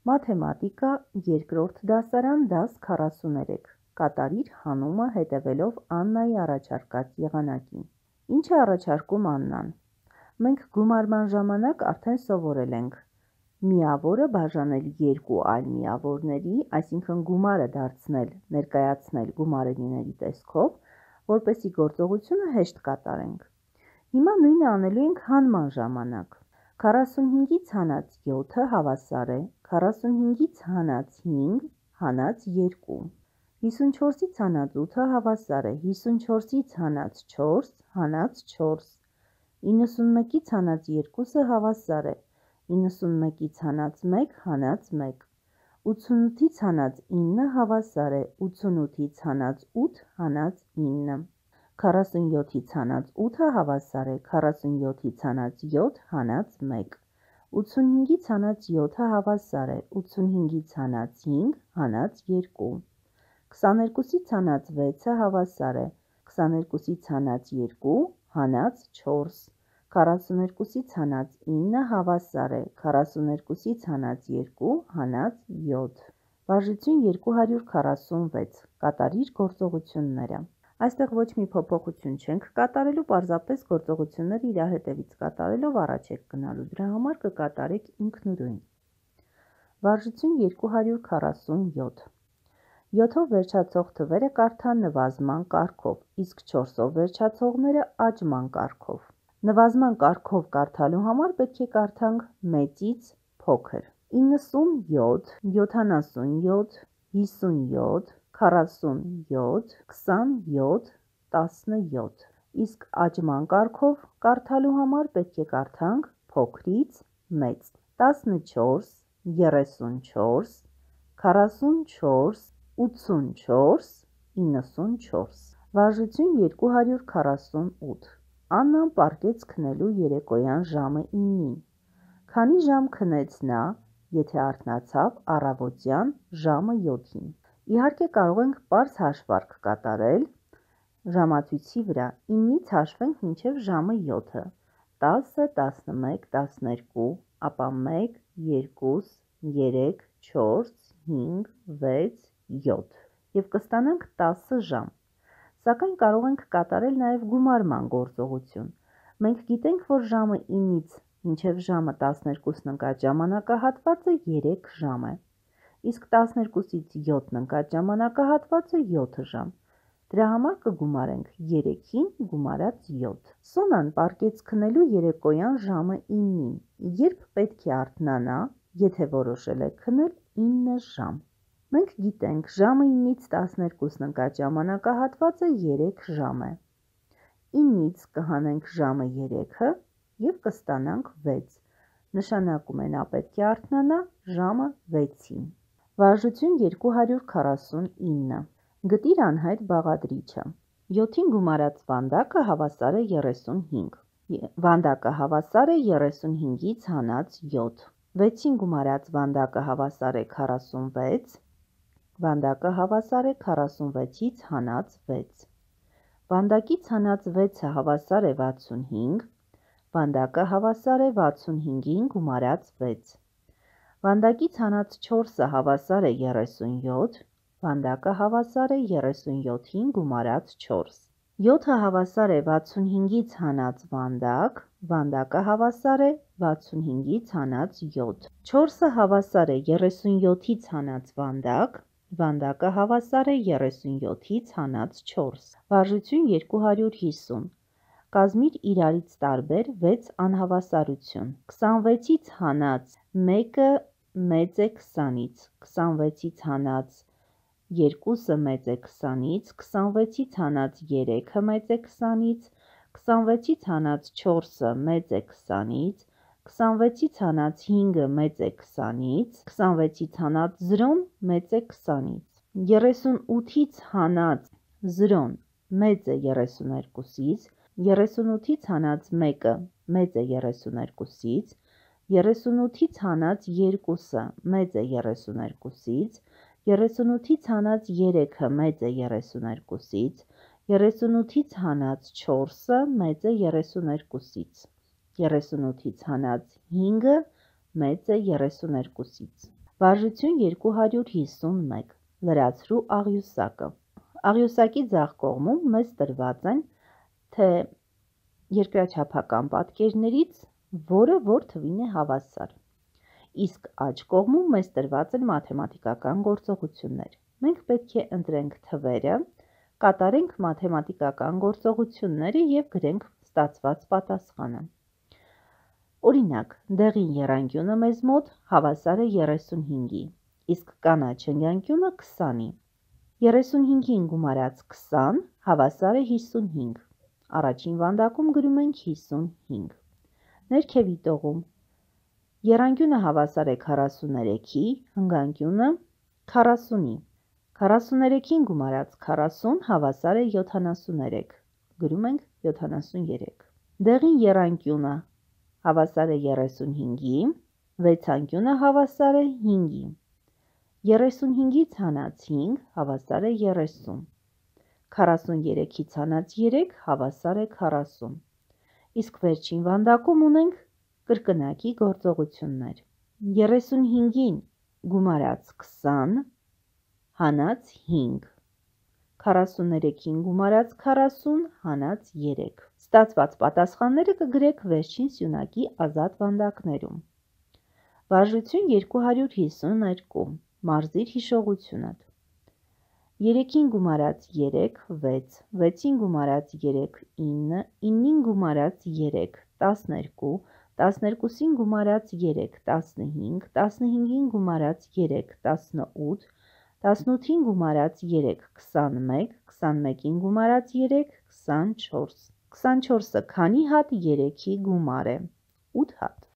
Մաթեմատիկա, երկրորդ դասարան, դաս 43, կատարիր հանումը հետևելով Աննայի առաջարկած եղանակին։ Ինչ է առաջարկում Աննան։ Մենք գումարման ժամանակ արդեն սովորել ենք միավորը բաժանել երկու այլ միավորների, այսինքն գումարը դարձնել, ներկայացնել գումարելիների տեսքով, որպեսզի գործողությունը հեշտ կատարենք։ Հիմա նույնը անելու ենք հանման ժամանակ։ 45-ից հանած 7-ը հավասար է 45-ից հանած 5 հանած 2, 54-ից հանած 8-ը հավասար է 54-ից հանած 4 հանած 4, 91-ից հանած 2-ը հավասար է 91-ից հանած 1 հանած 1, 88-ից հանած 9-ը հավասար է 88-ից հանած 8 հանած 9, 47-ից հանած 8-ը հավասար է 47-ից հանած 7 հանած 1, 85-ից հանած 7-ը հավասար է 85-ից հանած 5 հանած 2, 22-ից հանած 6-ը հավասար է 22-ից հանած 2 հանած 4, 42-ից հանած 9-ը հավասար է 42-ից հանած 2 հանած 7, վարժություն 246, կատարիր գործողությունները։ Այստեղ ոչ մի փոփոխություն չենք կատարելու, պարզապես գործողությունները իրար հետևից կատարելով առաջ եք գնալու, դրա համար կկատարեք ինքնուրույն։ Վարժություն 247, 7-ով վերջացող թվերը կարդա նվազման կարգով, իսկ 4-ով վերջացողները աճման կարգով։ Նվազման կարգով կարդալու համար պետք է կարդանք մեծից փոքր։ 97, 77, 57, 47, 27, 17, իսկ աճման կարգով կարդալու համար պետք է կարդանք փոքրից մեծ։ 14, 34, 44, 84, 94, վարժություն 248, Աննան պառկեց քնելու երեկոյան ժամը 9-ին։ Քանի ժամ քնեց նա, եթե արթնացավ առավոտյան ժամը 7-ին։ Իհարկե կարող ենք պարզ հաշվարկ կատարել ժամացույցի վրա, 9-ից հաշվենք մինչև ժամը 7-ը, 10, 11, 12, ապա 1, 2, 3, 4, 5, 6, 7 և կստանանք 10 ժամ։ Սակայն կարող ենք կատարել նաև գումարման գործողություն։ Մենք գիտենք, որ ժամը 9-ից մինչև ժամը 12-ն ընկած ժամանակահատվածը 3 ժամ է, իսկ 12-ից 7-ն ընկած ժամանակահատվածը 7 ժամ։ Դրա համար կգումարենք 3-ին գումարած 7։ Սոնան պառկեց քնելու երեկոյան ժամը 9-ին, երբ պետք է արթնանա, եթե որոշել է քնել 9 ժամ։ Մենք գիտենք, ժամը 9-ից 12-ն ընկած ժամանակահատվածը 3 ժամ է։ 9-ից կհանենք ժամը 3-ը և կստանանք 6, նշանակում է նա պետք է արթնանա ժամը 6-ին։ Վարժություն 249, գտիր անհայտ բաղադրիչը։ 7-ին գումարած վանդակը հավասար է 35, վանդակը հավասար է 35-ից հանած 7, 6-ին գումարած վանդակը հավասար է 46, վանդակը հավասար է 46-ից հանած 6, վանդակից հանած 6-ը հավասար է 65, վանդակը հավասար է 65-ին գումարած 6, վանդակից հանած 4-ը հավասար է 37, վանդակը հավասար է 37-ին գումարած 4, 7-ը հավասար է 65-ից հանած վանդակ, վանդակը հավասար է 65-ից հանած 7, 4-ը հավասար է 37-ից հանած վանդակ, վանդակը հավասար է 37-ից հանած 4, վարժություն 250, կազմիր իրարից տարբեր 6 անհավասարություն, 26-ից հանած 1-ը մեծ է 20-ից, 26-ից հանած 2-ը մեծ է 20-ից, 26-ից հանած 3-ը մեծ է 20-ից, 26-ից հանած 4-ը մեծ է 20-ից, 26-ից հանած 5-ը մեծ է 20-ից, 26-ից հանած 0-ն մեծ է 20-ից, 38-ից հանած 0-ն մեծ է 32-ից, 38-ից հանած 1-ը մեծ է 32-ից, 38-ից հանած 2-ը մեծ է 32-ից, 38-ից հանած 3-ը մեծ է 32-ից, 38-ից հանած 4-ը մեծ է 32-ից, 38-ից հանած 5-ը մեծ է 32-ից։ Վարժություն 251, լրացրու աղյուսակը։ Աղյուսակի ձախ կողմում մեզ տրված են, թե երկրաչափական պատկերներից որը որ թվին է հավասար։ Իսկ աջ կողմում մեզ տրված են մաթեմատիկական գործողություններ։ Մենք պետք է ընտրենք թվերը, կատարենք մաթեմատիկական գործողությունները և գրենք ստացված պատասխանը։ Օրինակ, դեղին եռանկյունը մեզ մոտ հավասար է 35-ի, իսկ կանաչ ընկյանկյունը 20-ի։ 35-ին գումարած 20 հավասար է 55։ Առաջին վանդակում գրում ենք 55։ Ներքևի տողում եռանկյունը հավասար է 43-ի, հնգանկյունը 40-ի։ 43-ին գումարած 40 հավասար է 73։ Գրում ենք 73։ Դեղին եռանկյունը հավասար է 35-ի, վեցանկյունը հավասար է 5-ի։ 35-ից հանած 5 հավասար է 30։ 43-ից հանած 3 հավասար է 40։ Իսկ վերջին վանդակում ունենք կրկնակի գործողություններ։ 35-ին գումարած 20 հանած 5, 43-ին գումարած 40 հանած 3։ Ստացված պատասխանները կգրեք վերջին սյունակի ազատ վանդակներում։ Վարժություն 252, մարզիր հիշողությունդ։ 3-ին գումարած 3, 6, 6-ին գումարած 3, 9, 9-ին գումարած 3, 12, 12-ին գումարած 3, 15, 15-ին գումարած 3, 18, 18-ին գումարած 3, 21, 21-ին գումարած 3, 24։ 24-ը քանի հատ 3-ի գումար է։ 8 հատ։